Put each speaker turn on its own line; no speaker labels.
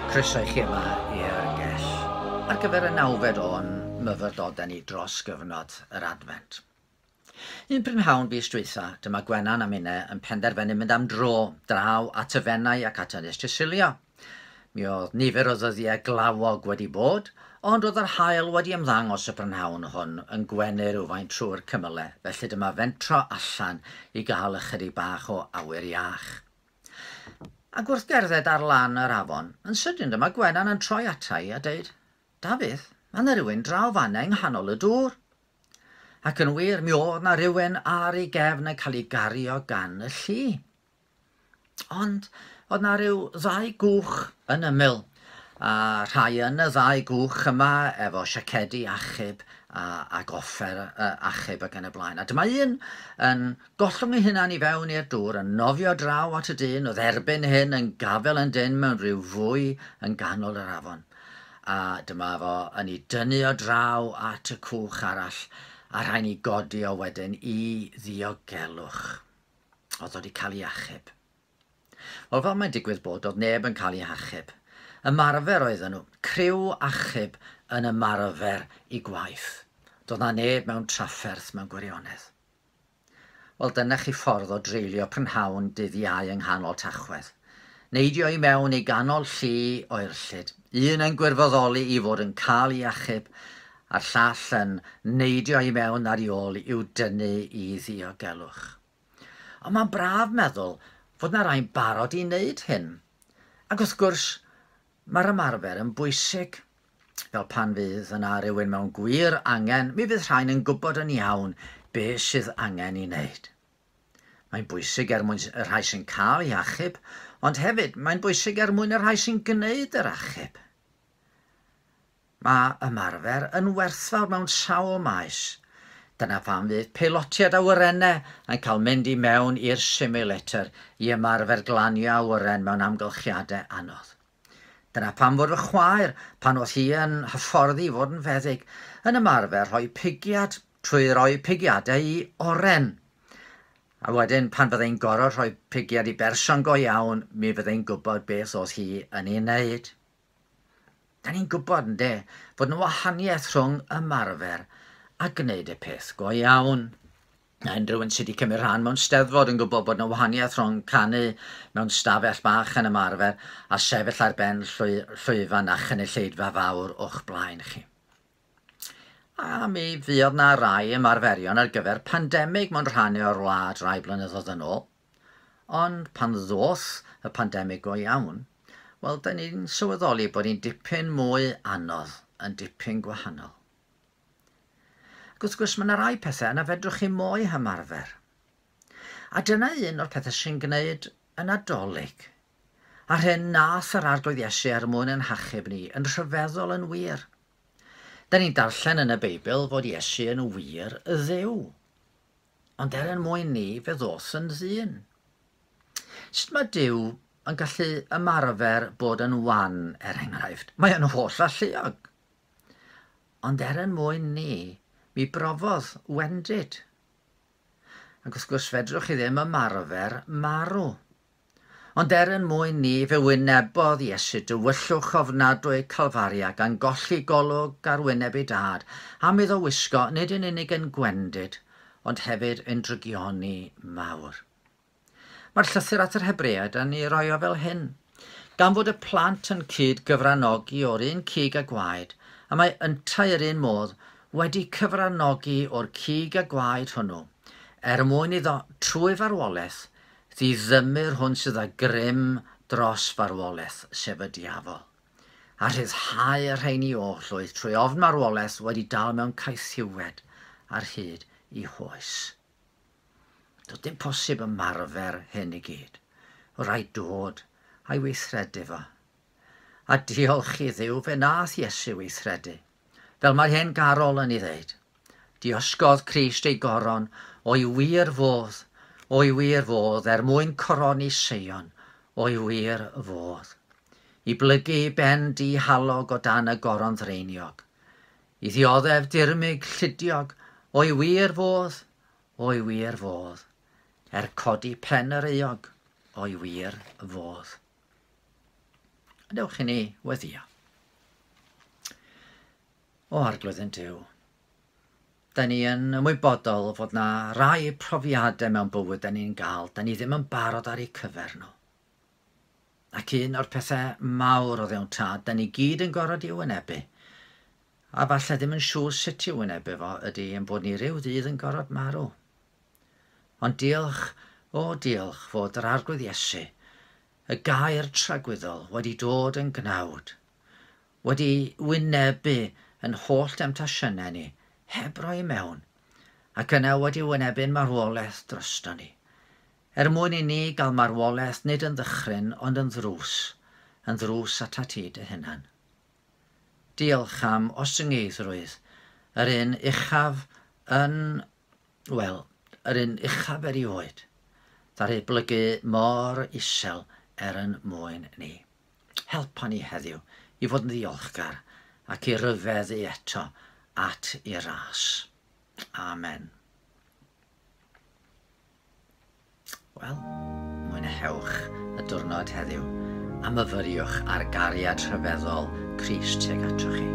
Croeso i chi yma i'r gell ar gyfer y nawfed o'n myfyrdodau ni dros gyfnod yr Adfent. Un prynhawn fis dwytha, dyma Gwenan a minne yn penderfynu mynd am dro draw at y Fenai ac at Ynys Sicilia. Mi oedd nifer o ddyddiau glawog wedi bod, ond oedd yr haul wedi ymddangos y prynhawn hwn yn gwenu rhywfaint trwy'r cymylau, felly dyma fentro allan i gael ychydig bach o awyr iach. Ac wrth gerdded ar lan yr afon, yn sydyn dyma Gwenan yn troi ata i a deud, Dafydd, mae 'na rywun draw fan'na yng nghanol y dŵr. Ac yn wir, mi oedd 'na rywun ar ei gefn yn cael ei gario gan y lli. Ond oedd 'na ryw ddau gwch yn ymyl, a rhai yn y ddau gwch yma efo siacedi achub a, ac offer achub ac yn y blaen. A dyma un yn gollwng ei hunan i fewn i'r dŵr, yn nofio draw at y dyn oedd erbyn hyn yn gafael yn dynn mewn rhyw fwy yn ganol yr afon. A dyma fo yn ei dynnu o draw at y cwch arall, a rhaid ni godi o wedyn i ddiogelwch. Oedd o wedi cael ei achub. Wel, fel mae'n digwydd bod, oedd neb yn cael ei hachub. Ymarfer oedden nhw, criw achub yn ymarfer i gwaith. Doedd na neb mewn trafferth mewn gwirionedd. Wel, dyna chi ffordd o dreulio prynhawn dydd Iau yng nghanol Tachwedd. Neidio i mewn i ganol llu oerllyd, un yn gwirfoddoli i fod yn cael ei achub, a'r llall yn neidio i mewn ar ei ôl i'w dynnu i ddiogelwch. Ond mae'n braf meddwl fod 'na rai'n barod i wneud hyn. Ac wrth gwrs, mae'r ymarfer yn bwysig. Fel pan fydd yna rywun mewn gwir angen, mi fydd rhain yn gwybod yn iawn be sydd angen i wneud. Mae'n bwysig er mwyn y rhai sy'n cael eu hachub, ond hefyd mae'n bwysig er mwyn y rhai sy'n gwneud yr achub. Mae ymarfer yn werthfawr mewn sawl maes. Dyna pham fydd peilotiaid awyrennau yn cael mynd i mewn i'r simulator i ymarfer glanio awyren mewn amgylchiadau anodd. Dyna pam fod fy chwaer, pan oedd hi yn hyfforddi i fod yn feddyg, yn ymarfer rhoi pigiad trwy roi pigiadau i oren. A wedyn pan fyddai'n gorfod rhoi pigiad i berson go iawn, mi fyddai'n gwybod beth oedd hi yn ei wneud. Da ni'n gwybod, ynde, fod 'na wahaniaeth rhwng ymarfer a gwneud y peth go iawn. Mae unrhyw un sydd wedi cymryd rhan mewn steddfod yn gwybod bod 'na wahaniaeth rhwng canu mewn stafell bach yn ymarfer a sefyll ar ben llwyfan a chynulleidfa fawr o'ch blaen chi. A mi fuodd 'na rai ymarferion ar gyfer pandemig mewn rhannau o'r wlad rai blynyddoedd yn ôl. Ond pan ddoth y pandemig go iawn, wel, da ni'n sylweddoli bod hi'n dipyn mwy anodd, yn dipyn gwahanol. Ac wrth gwrs, mae yna rai pethau na fedrwch chi mo'u hymarfer. A dyna un o'r pethau sy'n gwneud y Nadolig. A'r hyn nath yr Arglwydd Iesu er mwyn ein hachub ni, yn rhyfeddol yn wir. Da ni'n darllen yn y Beibl fod Iesu yn wir Dduw. Ond er yn mwyn ni, fe ddoth yn ddyn. Sut mae Duw yn gallu ymarfer bod yn wan, er enghraifft? Mae yn holl alluog. Ond er yn mwyn ni, mi brofodd wendid. Ac wrth gwrs, fedrwch chi ddim ymarfer marw. Ond er yn mwyn ni, fe wynebodd Iesu dywyllwch ofnadwy Calfaria, gan golli golwg ar wyneb ei Dad, am iddo wisgo nid yn unig yn gwendid, ond hefyd yn drygioni mawr. Mae'r llythyr at yr Hebreaid yn ei roi o fel hyn, Gan fod y plant yn cyd gyfranogi o'r un cig a gwaed, y mae yntau yr un modd wedi cyfranogi o'r cig a gwaed hwnnw, er mwyn iddo, trwy farwolaeth, Ddiddymu'r hwn sydd â grym dros farwolaeth, sef y diafol, a rhyddhau y rheini oll oedd trwy ofn marwolaeth wedi dal mewn caethiwed ar hyd i hoes. Doedd dim posib ymarfer hyn i gyd. Oedd rhaid dod a'i weithredu fo. A diolch i Dduw fe nath Iesu weithredu, fel mae'r hen garol yn ei ddeud. Diosgodd Crist ei goron o'i wir fodd, o'i wir fodd, er mwyn coroni Seion, o'i wir fodd. I blygu ei ben dihalog o dan y goron ddreiniog. I ddioddef dirmyg llidiog, o'i wir fodd, o'i wir fodd, er codi pen yr euog, o'i wir fodd. Dewch i ni weddio. O Arglwydd yn Duw, da ni yn ymwybodol fod na rai profiadau mewn bywyd da ni'n gael, da ni ddim yn barod ar eu cyfer nhw. Ac un o'r pethau mawr o ddewn tad, da ni gyd yn gorfod i'w wynebu, a falle ddim yn siŵr sut i'w wynebu fo, ydy yn bod ni rhyw ddydd yn gorfod marw. Ond diolch, o diolch, fod yr Arglwydd Iesu, y gair tragwyddol, wedi dod yn gnawd, wedi wynebu yn holl demtasiynau ni, heb roi mewn, ac yna wedi wynebu'n marwolaeth drosto ni. Er mwyn i ni gael marwolaeth nid yn ddychryn, ond yn ddrws, yn ddrws atat ti dy hunan. Diolch am ostyngeiddrwydd, yr un uchaf yn, wel, yr un uchaf erioed, ddaru blygu mor isel er yn mwyn ni. Helpa ni heddiw i fod yn ddiolchgar ac i ryfeddu eto at i ras. Amen. Wel, mwynhewch y diwrnod heddiw a myfyriwch ar gariad rhyfeddol Crist tuag atoch chi.